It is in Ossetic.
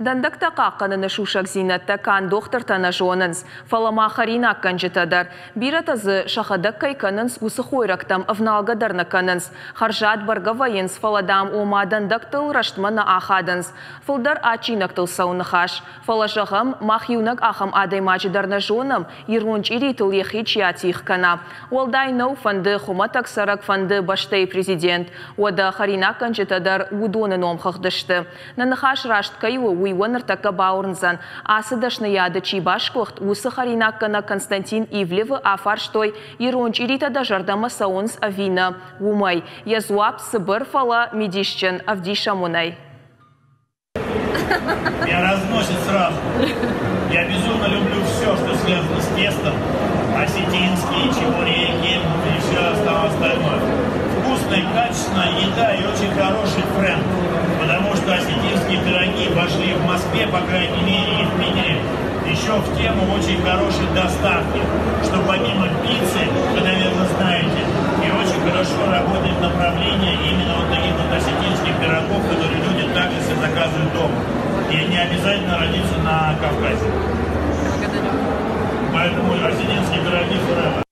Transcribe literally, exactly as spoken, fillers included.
Дӕндӕгтӕ хъахъхъӕныны сусӕгдзинӕдтӕ канд дохтыртӕ нӕ зонынц, фӕлӕ ма хӕринаггӕнджытӕ дӕр. Бирӕтӕ дзы сӕхӕдӕг кӕй кӕнынц, уыцы хойрӕгтӕм ӕвналгӕ дӕр нӕ кӕнынц. Хӕрзад бӕргӕ вӕййынц, фӕлӕ, дам, ома дӕндӕгтыл рӕстмӕ нӕ ахадынц. Фылдӕр адджинӕгтыл цӕуы ныхас. Фӕлӕ, зӕгъӕм, мах иунӕг ахӕм адӕймаджы дӕр нӕ зонӕм, ирон чъиритыл йӕхи чи атигъ кӕна. Уӕлдай нӕу, фӕнды хуымӕтӕг цӕрӕг, фӕнды бӕстӕйы президент. Уӕдӕ хӕринаггӕнджытӕ дӕр уыдоны номхыгъды сты. Нӕ ныхас раст кӕй у, уый уӕ ныртӕккӕ бауырндзӕн. Ацы дӕсныйады чи басгуыхт, уыцы хӕринаггӕнӕг Константин Ивлевы афарстой, ирон чъиритӕ дӕ зӕрдӕмӕ цӕуынц ӕви нӕ, уымӕй. Йӕ дзуапп цыбыр, фӕлӕ мидисджын, ӕвдисӕм уын ӕй. Меня разносит сразу. Я безумно люблю все, что связано с тестом. Осетинские, чебуреки и все остальное. Вкусная, качественная еда и очень хороший френд. Потому что осетинские пироги вошли в Москве, по крайней мере, и в Питере, еще в тему очень хорошей доставки. Что помимо пиццы, вы, наверное, знаете, и очень хорошо работает направление именно вот таких вот осетинских пирогов, которые люди также себе заказывают дома. И не обязательно родиться на Кавказе. Благодарю. Поэтому осетинские пироги forever.